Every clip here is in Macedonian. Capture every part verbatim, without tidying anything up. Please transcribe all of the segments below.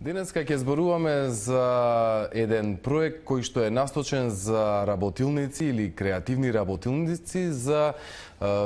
Денеска ќе зборуваме за еден проект кој што е насточен за работилници или креативни работилници за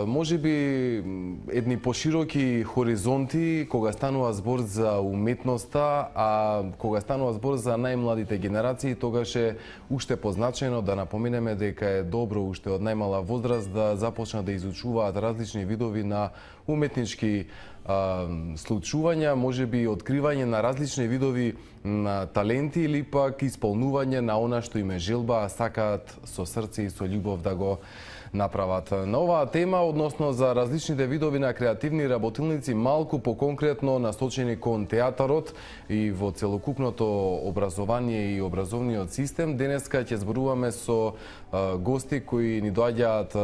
можеби едни пошироки хоризонти кога станува збор за уметноста, а кога станува збор за најмладите генерации, тогаш е уште позначено да напоменеме дека е добро уште од најмала возраст да започнат да изучуваат различни видови на уметнички случувања, можеби откривање на различни видови на таленти или пак исполнување на она што им е желба, а сакаат со срце и со љубов да го направат. На оваа тема, односно за различните видови на креативни работилници, малку поконкретно насочени кон театарот и во целокупното образование и образовниот систем, денеска ќе зборуваме со а, гости кои ни доаѓаат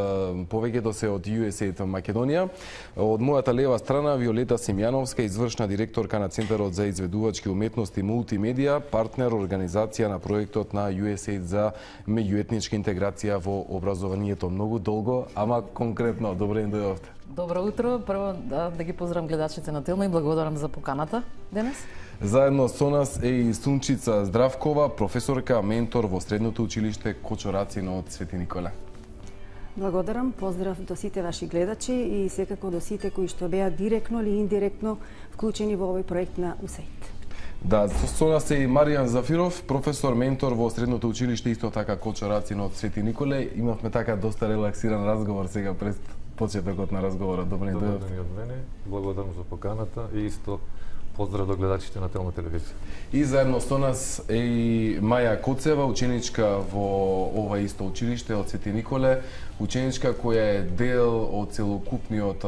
повеќето се од ю ес ей ай Македонија. Од мојата лева страна Виолета Симјановска, извршна директорка на Центарот за изведувачки уметности и мултимедија, партнер организација на проектот на ю ес ей ай за меѓуетничка интеграција во образованието. Многу долго, ама конкретно. Добро ден дојдовте. Добро утро. Прво да, да ги поздравам гледачите на Телма и благодарам за поканата денес. Заедно со нас е и Сунчица Здравкова, професорка, ментор во Средното училиште Кочорацино од Свети Николе. Благодарам, поздрав до сите ваши гледачи и секако до сите кои што беа директно или индиректно вклучени во овој проект на ю ес ей ай. Да, со нас е и Маријан Зафиров, професор, ментор во Средното училиште, исто така Кочорацино од Свети Николе. Имавме така доста релаксиран разговор сега пред почетокот на разговорот. Добро ден. Добро ден и од мене. Благодарам за поканата и исто поздрав до гледачите на Телма телевизија. И заедно со нас е и Маја Коцева, ученичка во ова исто училиште од Свети Николе, ученичка која е дел од целокупниот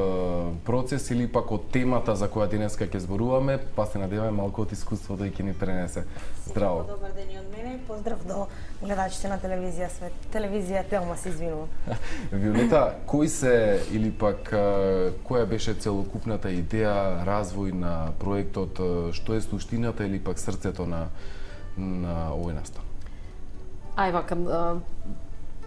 процес или пак од темата за која денеска ќе зборуваме, па се надеваме малку од искуството и ќе ни пренесе. Здраво. Добар ден и од мене, поздрав до гледачите на телевизија Свет. Телевизија Телма, се извинувам. Виолета, кои се или пак која беше целокупната идеја, развој на проектот, што е суштината или пак срцето на на овој настан? Ај вака,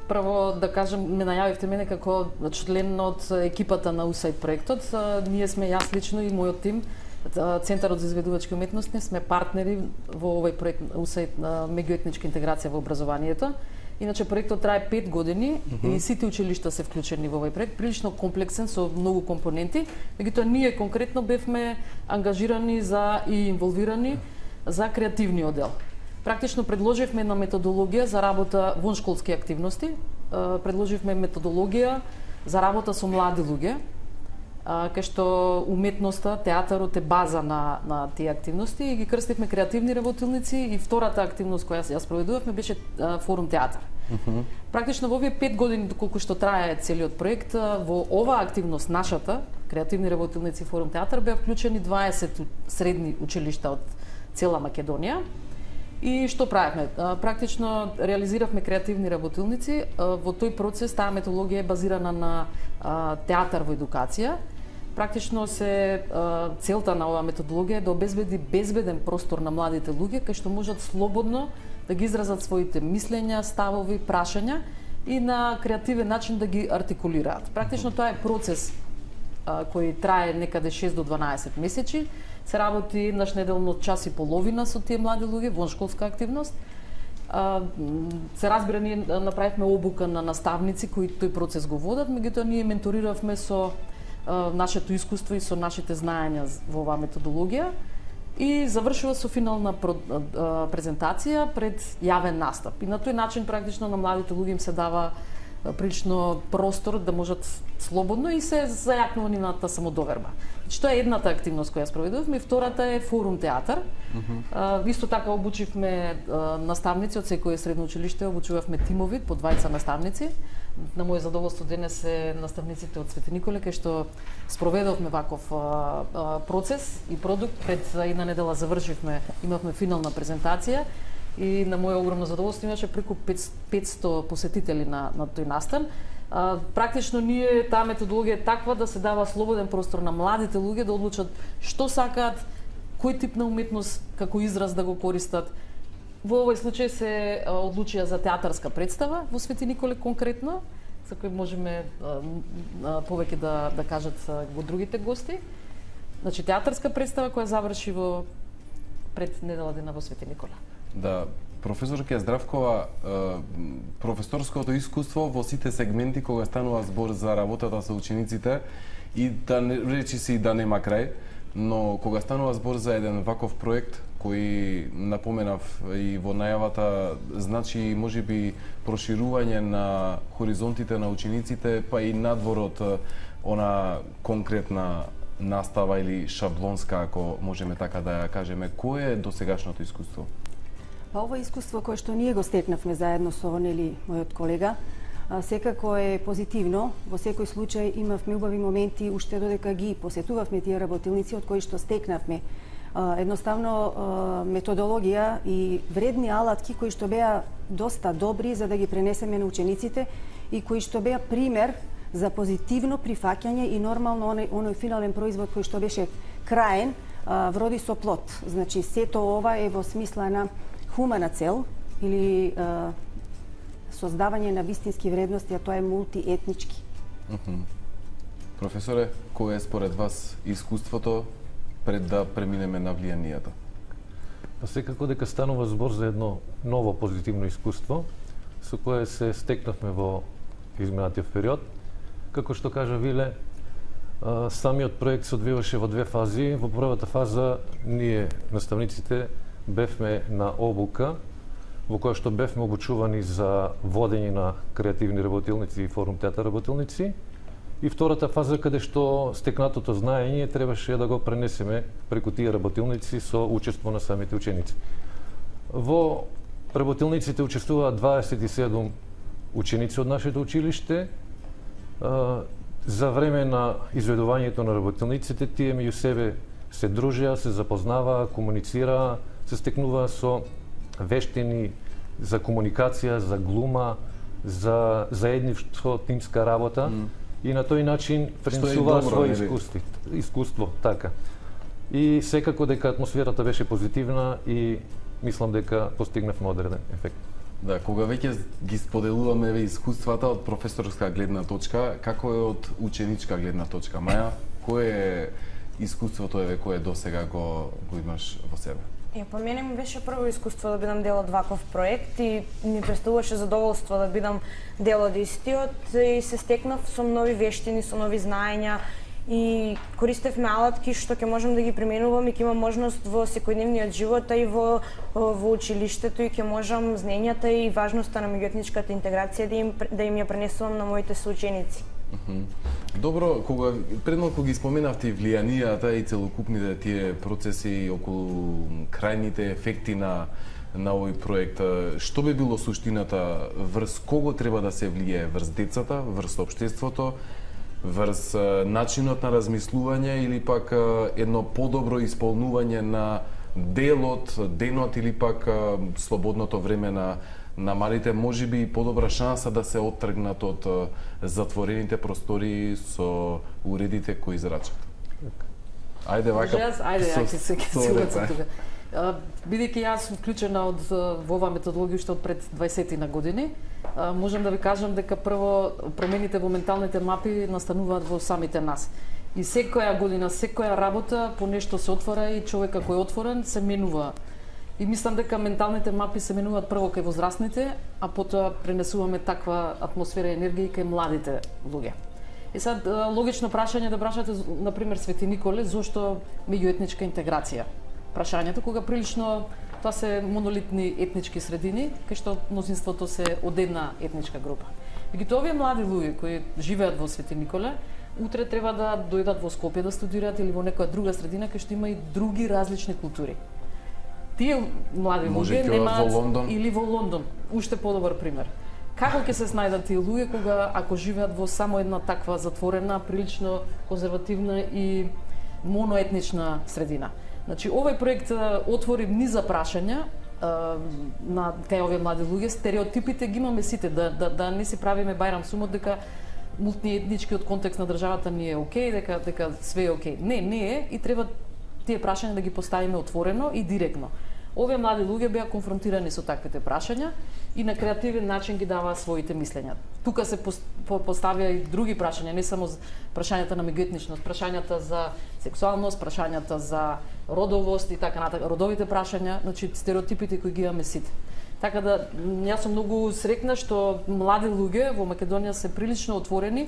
прво да кажам, ме најавивте мене како член од екипата на ю ес ей ай проектот. Ние сме, јас лично и мојот тим, Центарот за изведувачки уметности, сме партнери во овој проект ю ес ей ай на меѓуетничка интеграција во образованието. Иначе проектот трае пет години uh -huh. и сите училишта се вклучени во овој проект, прилично комплексен со многу компоненти. Меѓутоа ние конкретно бевме ангажирани за и инволвирани за креативниот дел. Практично предложивме една методологија за работа воншколски активности, предложивме методологија за работа со млади луѓе, кај што уметноста, театарот е база на на тие активности и ги крстивме креативни работилници и втората активност која ја спроведувавме беше форум театар. Uh -huh. Практично во овие пет години доколку што трае целиот проект, во оваа активност нашата креативни работилници форум театар беа вклучени дваесет средни училишта од цела Македонија. И што правевме? Практично реализиравме креативни работилници. Во тој процес таа методологија е базирана на театар во едукација. Практично се целта на оваа методологија е да обезбеди безбеден простор на младите луѓе кај што можат слободно да ги изразат своите мислења, ставови, прашања и на креативен начин да ги артикулираат. Практично тоа е процес кој трае некаде шест до дванаесет месеци. Се работи еднаш неделно час и половина со тие млади луѓе, воншколска активност. Се разбира, ние направивме обука на наставници кои тој процес го водат, меѓутоа ние менториравме со нашето искуство и со нашите знаења во оваа методологија и завршува со финална презентација пред јавен настап. И на тој начин практично на младите луѓе им се дава прилично простор да можат слободно и се зајакнува нивната самодоверба. Значи, тоа е едната активност која спроведувавме, и втората е форум театар. Uh -huh. Исто така обучивме наставници од секое средно училиште, обучувавме тимови по двајца наставници. На моје задоволство денес се наставниците од Свети Николе, кај што спроведовме ваков процес и продукт. Пред една недела завршивме, имавме финална презентација. И на моје огромно задоволство имаше преку петсто посетители на, на тој настан. А, практично ние, таа методологија е таква да се дава слободен простор на младите луѓе да одлучат што сакаат, кој тип на уметност како израз да го користат. Во овој случај се одлучија за театарска представа во Свети Николе конкретно, за кој можеме а, а, повеќе да, да кажат во другите гости. Значи театарска представа која заврши во пред недела дена во Свети Никола. Да, професорке Здравкова, професорското искуство во сите сегменти кога станува збор за работата со учениците и да не речи си да нема крај, но кога станува збор за еден ваков проект кој напоменав и во најавата, значи можеби проширување на хоризонтите на учениците, па и надвор од она конкретна настава или шаблонска, ако можеме така да ја кажеме. Кое е досегашното искуство? Па ова искуство кое што ние го стекнавме заедно со нели мојот колега, секако е позитивно. Во секој случај имавме убави моменти уште додека ги посетувавме тие работилници од кои што стекнавме едноставно методологија и вредни алатки кои што беа доста добри за да ги пренесеме на учениците и кои што беа пример за позитивно прифаќање и нормално оној, оној финален производ кој што беше краен вроди со плод. Значи сето ова е во смисла на хумана цел или а, создавање на вистински вредности, а тоа е мултиетнички. Mm-hmm. Професоре, кое е според вас искуството пред да преминеме на влијанијата? Па секако дека станува збор за едно ново позитивно искуство со кое се стекнавме во изминатиот период. Како што кажа Виле, самиот проект се одвиваше во две фази. Во првата фаза ние, наставниците, бевме на обука, во која што бевме обучувани за водење на креативни работилници и форум театар работилници. И втората фаза каде што стекнатото знаење требаше да го пренесеме преку тие работилници со учество на самите ученици. Во работилниците учествуваат дваесет и седум ученици од нашето училиште. За време на изведувањето на работилниците, тие меѓу себе се дружеа, се запознаваа, комуницираа, се стекнуваа со вештини за комуникација, за глума, за заедништво, тимска работа mm. и на тој начин пренесуваа свој искуство, искуство, така. И секако дека атмосферата беше позитивна и мислам дека постигнавме одреден ефект. Да, кога веќе ги споделуваме искуствата од професорска гледна точка, како е од ученичка гледна точка? Маја, кое е искуството еве кое досега го го имаш во себе? Е, по мене ми беше прво искуство да бидам дел од ваков проект и ми представуваше задоволство да бидам дел од истиот и се стекнав со нови вештини, со нови знаења и користевме алатки што ќе можам да ги применувам и ќе имам можност во секојдневниот живот, а и во, во училиштето и ќе можам знаењата и важноста на меѓуетничката интеграција да им, да им ја пренесувам на моите соученици. Добро, кога предмалку ги споменавте влијанијата и целокупните тие процеси околу крајните ефекти на на овој проект, што би било суштината, врз кого треба да се влијае, врз децата, врз општеството, врз начинот на размислување или пак едно подобро исполнување на делот, денот или пак слободното време на на малите, можеби подобра шанса да се оттргнат од затворените простори со уредите кои зрачат. Ајде вака. Жас, ајде, ја ќе се ќе се тука. Бидејќи јас сум вклучена од во оваа методологија уште од пред дваесет на години, можам да ви кажам дека прво промените во менталните мапи настануваат во самите нас. И секоја година, секоја работа по нешто се отвора и човека кој е отворен се менува. И мислам дека менталните мапи се менуваат прво кај возрастните, а потоа пренесуваме таква атмосфера и енергија и кај младите луѓе. И сад логично прашање да прашате на пример Свети Николе зошто меѓуетничка интеграција. Прашањето кога прилично тоа се монолитни етнички средини, кај што мнозинството се од една етничка група. Меѓутоа овие млади луѓе кои живеат во Свети Николе, утре треба да дојдат во Скопје да студираат или во некоја друга средина кај што има и други различни култури. Тие млади луѓе немаат во или во Лондон, уште подобар пример. Како ќе се снајдат тие луѓе кога ако живеат во само една таква затворена, прилично конзервативна и моноетнична средина? Значи овој проект отвори низа прашања на кај овие млади луѓе, стереотипите ги имаме сите, да да да не си правиме бајрам сумот дека мултиетничкиот контекст на државата ни е окей, дека дека све е окей. Не, не е и треба тие прашања да ги поставиме отворено и директно. Овие млади луѓе беа конфронтирани со таквите прашања и на креативен начин ги даваа своите мислења. Тука се поставија и други прашања, не само прашањата на меѓуетничност, прашањата за сексуалност, прашањата за родовост и така натаму, родовите прашања, значи стереотипите кои ги имаме сите. Така да, јас сум многу среќна што млади луѓе во Македонија се прилично отворени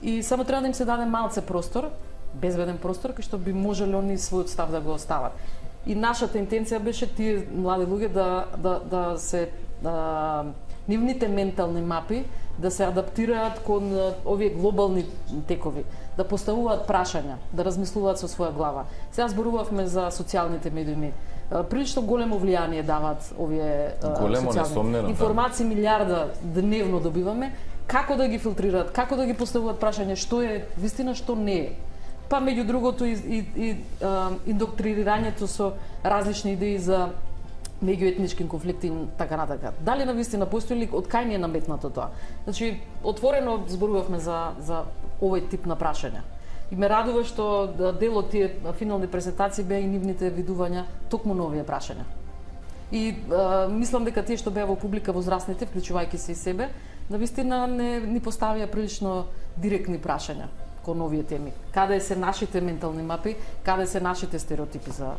и само треба да им се даде малце простор, безбеден простор, кај што би можеле они својот став да го остават. И нашата интенција беше тие млади луѓе да да да се да, нивните ментални мапи да се адаптираат кон овие глобални текови, да поставуваат прашања, да размислуваат со своја глава. Сега зборувавме за социјалните медиуми. Прилично големо влијание даваат овие големо, социјални информации, милиарда дневно добиваме. Како да ги филтрираат, како да ги поставуваат прашање, што е вистина, што не е. Па меѓу другото и, и, и а, индоктринирањето со различни идеи за меѓуетнички конфликти и така натака. Дали навистина постои ли, од кај ни е наметнато тоа? Значи, отворено зборувавме за, за овој тип на прашања. И ме радува што дел од тие финални презентации беа и нивните видувања токму на овие прашања. И а, мислам дека тие што беа во публика возрастните, вклучувајќи се и себе, навистина не ни поставија прилично директни прашања кон овие теми. Каде се нашите ментални мапи, каде се нашите стереотипи за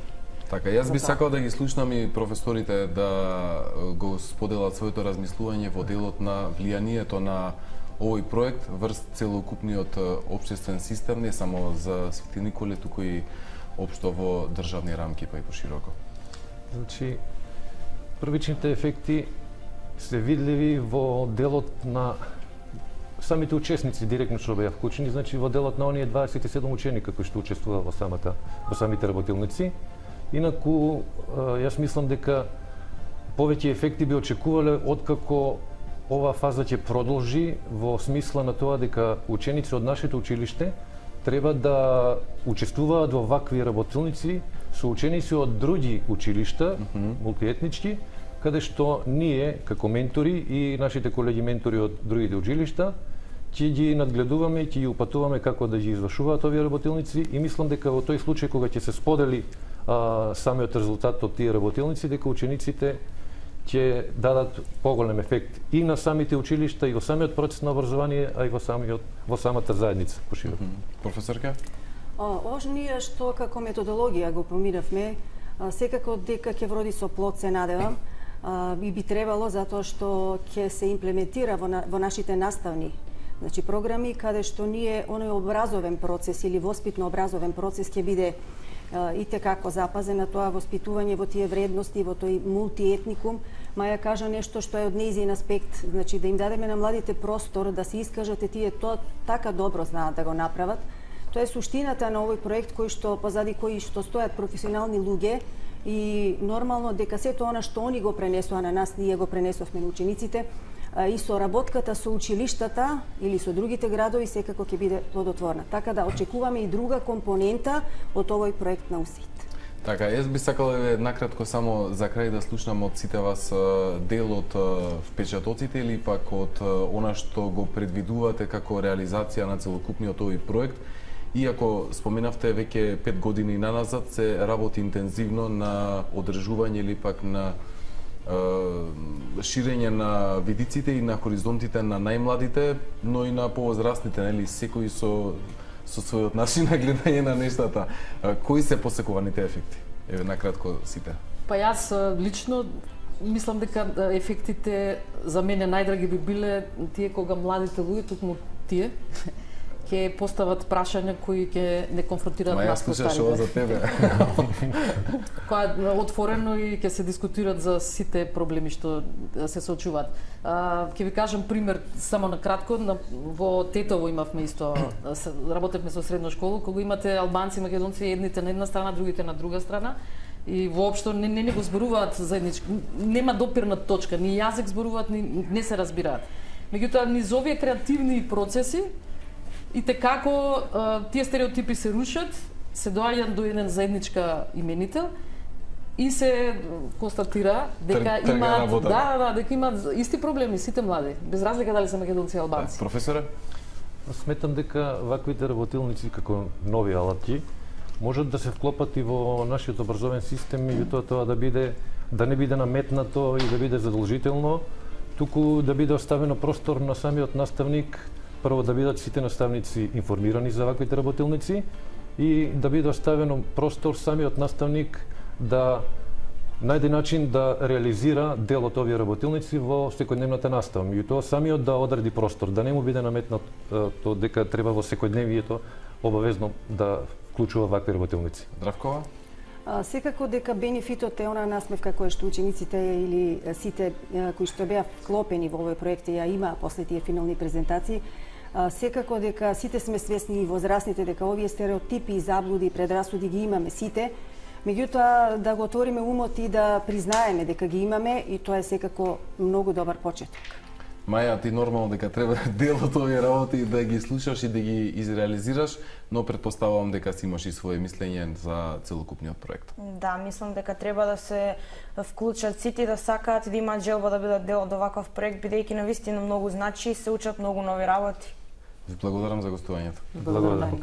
Така, јас би сакал да ги слушнам и професорите да го споделат своето размислување во делот на влијанието на овој проект врз целокупниот општествен систем, не само за Свети Николе, туку и општо во државни рамки, па и пошироко. Значи, првичните ефекти се видливи во делот на самите учесници директно што беа вклучени, значи во делот на оние дваесет и седум ученика кои што учествуваа во самата во самите работилници. Инаку јас мислам дека повеќе ефекти би очекувале откако ова фаза ќе продолжи во смисла на тоа дека ученици од нашето училиште треба да учествуваат во вакви работилници со ученици од други училишта, mm -hmm. мултиетнички, каде што ние како ментори и нашите колеги ментори од другите училишта ќе ги надгледуваме и ќе ги упатуваме како да ги извршуваат овие работилници и мислам дека во тој случај кога ќе се сподели а, самиот резултат од тие работилници, дека учениците ќе дадат поголем ефект и на самите училишта и во самиот процес на образование, а и во самиот во самата заедница пошироко. Mm -hmm. Професорка? Ова ние што како методологија го поминавме, секако дека ќе вроди со плод се надевам, и би требало затоа што ќе се имплементира во, на, во нашите наставни значи програми каде што ние оној образовен процес или воспитно-образовен процес ќе биде и те како запазен на тоа воспитување во тие вредности, во тој мултиетникум. Маја кажа нешто што е од нејзин аспект, значи да им дадеме на младите простор да се искажат и тие тоа така добро знаат да го направат. Тоа е суштината на овој проект кој што позади кој што стојат професионални луѓе и нормално дека сето она што они го пренесоа на нас, ние го пренесовме на учениците и со работката со училиштата или со другите градови секако ќе биде плодотворна. Така да очекуваме и друга компонента од овој проект на УСИТ. Така, јас би сакал накратко само за крај да слушнам од сите вас дел од впечатоците или пак од она што го предвидувате како реализација на целокупниот овој проект. Иако споменавте веќе пет години наназад се работи интензивно на одржување или пак на ширење на видиците и на хоризонтите на најмладите, но и на повозрастните, нели, секој со со својот начин на гледање на нештата. Кои се посекуваните ефекти? Еве накратко сите. Па јас лично мислам дека ефектите за мене најдраги би биле тие кога младите луѓе, токму тие, ќе постават прашања кои ќе не конфронтираат нас по старите. Ма јас слушаш ова за тебе. Која отворено и ќе се дискутираат за сите проблеми што се соочуваат. Ќе ви кажам пример само на кратко, на, во Тетово имавме исто, работевме со средна школа, кога имате албанци, македонци, едните на една страна, другите на друга страна. И воопшто не, не, не го зборуваат заеднички, нема допирна точка, ни јазик зборуваат, ни не се разбираат. Меѓутоа, низ овие креативни процеси, и те како тие стереотипи се рушат, се доаѓаат до еден заедничка именител и се констатира дека Тр, имаат да, да, да, дека имаат исти проблеми сите млади, без разлика дали се македонци или албанци. Професоре? Сметам дека ваквите работилници како нови алати можат да се вклопат и во нашиот образовен систем и тоа тоа да биде да не биде наметнато и да биде задолжително, туку да биде оставено простор на самиот наставник, прво да бидат сите наставници информирани за ваквите работилници и да биде оставено простор самиот наставник да најде начин да реализира дел од овие работилници во секојдневната настава. Меѓутоа самиот да одреди простор, да не му биде наметнат то дека треба во секојдневието обавезно да вклучува вакви работилници. Здравкова? А, секако дека бенефитот е она насмевка која што учениците или сите кои што беа вклопени во овој проект ја имаа после тие финални презентации. А, секако дека сите сме свесни и возрастните дека овие стереотипи, заблуди и предрасуди ги имаме сите. Меѓутоа да го отвориме умот и да признаеме дека ги имаме и тоа е секако многу добар почеток. Маја, ти нормално дека треба дел од овие работи да ги слушаш и да ги изреализираш, но претпоставувам дека си имаш и свое мислење за целокупниот проект. Да, мислам дека треба да се вклучат сите и да сакаат и да имаат желба да бидат дел од оваков проект, бидејќи навистина многу значи и се учат многу нови работи. Ви благодарам за гостувањето. Благодарам.